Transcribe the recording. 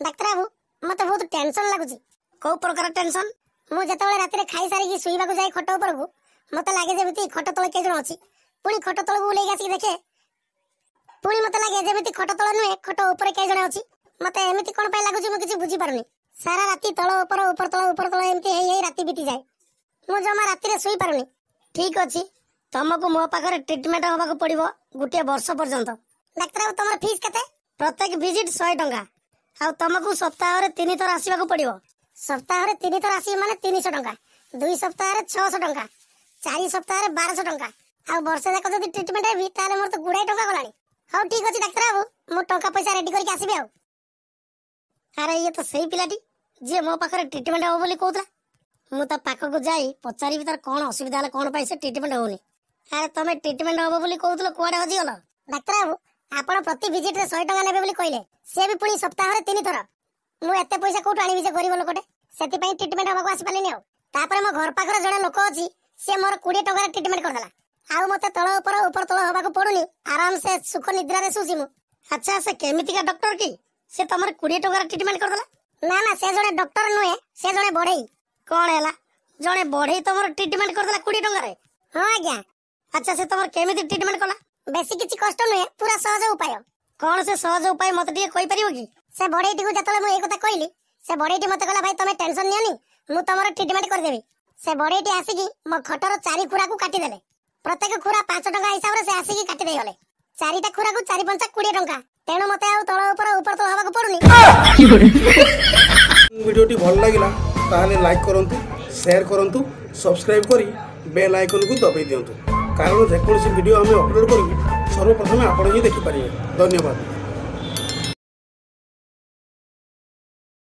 ଡାକ୍ତର ବାବୁ, ମତେ ବହୁତ ଟେନସନ ଲାଗୁଛି। କୋଉ ପ୍ରକାର ଟେନସନ? ମୁଁ ଯେତେବେଳେ ରାତିରେ ଖାଇସାରିକି ଶୋଇବାକୁ ଯାଏ ଖଟ ଉପରକୁ, ମତେ ଲାଗେ ଯେମିତି ଖଟ ତଳେ କେହି ଜଣ ଅଛି। ପୁଣି ଖଟ ତଳକୁ ଓହ୍ଲେଇକି ଆସିକି ଦେଖେ, ପୁଣି ମତେ ଲାଗେ ଯେମିତି ଖଟ ତଳ ନୁହେଁ, ଖଟ ଉପରେ କେହି ଜଣେ ଅଛି। ମତେ ଏମିତି କଣ ପାଇଁ ଲାଗୁଛି, ମୁଁ କିଛି ବୁଝିପାରୁନି। ସାରା ରାତି ତଳ ଉପର, ଉପର ତଳ, ଉପର ତଳ ଏମିତି ହେଇ ହେଇ ରାତି ବିତିଯାଏ। ମୁଁ ଜମା ରାତିରେ ଶୋଇପାରୁନି। ଠିକ ଅଛି, ତମକୁ ମୋ ପାଖରେ ଟ୍ରିଟମେଣ୍ଟ ହବାକୁ ପଡିବ ଗୋଟିଏ ବର୍ଷ ପର୍ଯ୍ୟନ୍ତ। ଡାକ୍ତର ବାବୁ, ତମର ଫିସ୍ କେତେ? ପ୍ରତ୍ୟେକ ଭିଜିଟ 100 ଟଙ୍କା, ଆଉ ତମକୁ ସପ୍ତାହରେ 3 ଥର ଆସିବାକୁ ପଡିବ। ସପ୍ତାହରେ 3 ଥର ଆସିବି ମାନେ 300 ଟଙ୍କା, 2 ସପ୍ତାହରେ 600 ଟଙ୍କା, 4 ସପ୍ତାହରେ 1200 ଟଙ୍କା, ଆଉ ବର୍ଷେ ଯାକ ଯଦି ଟ୍ରିଟମେଣ୍ଟ ହେବି ତାହେଲେ ମୋର ତ ଗୁଡ଼ାଏ ଟଙ୍କା ଗଲାଣି। ହଉ ଠିକ ଅଛି ଡାକ୍ତର ବାବୁ, ମୁଁ ଟଙ୍କା ପଇସା ରେଡି କରିକି ଆସିବି। ଆଉ ଆରେ, ଇଏ ତ ସେଇ ପିଲାଟି ଯିଏ ମୋ ପାଖରେ ଟ୍ରିଟମେଣ୍ଟ ହବ ବୋଲି କହୁଥିଲା। ମୁଁ ତା ପାଖକୁ ଯାଇ ପଚାରିବି ତାର କଣ ଅସୁବିଧା ହେଲା, କଣ ପାଇଁ ସେ ଟ୍ରିଟମେଣ୍ଟ ହଉନି। ଆରେ, ତମେ ଟ୍ରିଟମେଣ୍ଟ ହବ ବୋଲି କହୁଥିଲ, କୁଆଡେ ହଜିଗଲ? ଡାକ୍ତର ବାବୁ, ଆପଣ ପ୍ରତି ଭିଜିଟରେ 100 ଟଙ୍କା ନେବେ ବୋଲି କହିଲେ, ସେ ବି ପୁଣି ସପ୍ତାହରେ 3 ଥର। ମୁଁ ଏତେ ପଇସା କୋଉଠୁ ଆଣିବି ଯେ ଗରିବ ଲୋକଟେ? ସେଥିପାଇଁ ଟ୍ରିଟମେଣ୍ଟ ହବାକୁ ଆସିପାରିଲିନି। ଆଉ ତାପରେ ମୋ ଘର ପାଖରେ ଜଣେ ଲୋକ ଅଛି, ସେ ମୋର 20 ଟଙ୍କାରେ ଟ୍ରିଟମେଣ୍ଟ କରିଦେଲା, ଆଉ ମତେ ତଳ ଉପର ଉପର ତଳ ହବାକୁ ପଡୁନି, ଆରାମସେ ସୁଖ ନିଦ୍ରାରେ ଶୋଉଛି ମୁଁ। ଆଚ୍ଛା, ସେ କେମିତିକା ଡକ୍ଟର କି ସେ ତମର 20 ଟଙ୍କାରେ ଟ୍ରିଟମେଣ୍ଟ କରିଦେଲା? ନା ନା, ସେ ଜଣେ ଡକ୍ଟର ନୁହେଁ, ସେ ଜଣେ ବଢେଇ। କଣ ହେଲା, ଜଣେ ବଢେଇ ତମର ଟ୍ରିଟମେଣ୍ଟ କରିଦେଲା 20 ଟଙ୍କାରେ? ହଁ ଆଜ୍ଞା। ଆଚ୍ଛା, ସେ ତମର କେମିତି ଟ୍ରିଟମେଣ୍ଟ କଲା? ବେଶୀ କିଛି କଷ୍ଟ ନୁହେଁ, ପୁରା ସହଜ ଉପାୟ। କଣ ସେ ସହଜ ଉପାୟ, ମତେ ଟିକେ କହିପାରିବ କି? ସେ ବଢେଇଟିକୁ ଯେତେବେଳେ ମୁଁ ଏଇ କଥା କହିଲି, ସେ ବଢେଇଟି ମତେ କହିଲା, ଭାଇ ତମେ ଟେନସନ ନିଅନି, ମୁଁ ତମର ଟ୍ରିଟମେଣ୍ଟ କରିଦେବି। ସେ ବଢେଇଟି ଆସିକି ମୋ ଖଟର 4 ଖୁରାକୁ କାଟିଦେଲେ। ପ୍ରତ୍ୟେକ ଖୁରା 5 ଟଙ୍କା ହିସାବରେ ସେ ଆସିକି କାଟି ଦେଇଗଲେ। 4ଟା ଖୁରାକୁ 4 ପଞ୍ଚା 20 ଟଙ୍କା। ତେଣୁ ମତେ ଆଉ ତଳ ଉପର ଉପର ତଳ ହବାକୁ ପଡୁନି। ଭିଡ଼ିଓଟି ଭଲ ଲାଗିଲା ତାହେଲେ ଲାଇକ୍ କରନ୍ତୁ, ସେୟାର କରନ୍ତୁ, ସବସ୍କ୍ରାଇବ୍ କରି ବେଲ୍ ଆଇକନ୍କୁ ଦବାଇ ଦିଅନ୍ତୁ, କାରଣ ଯେକୌଣସି ଭିଡ଼ିଓ ଆମେ ଅପଲୋଡ଼ କରିବୁ ସର୍ବପ୍ରଥମେ ଆପଣ ହିଁ ଦେଖିପାରିବେ। ଧନ୍ୟବାଦ।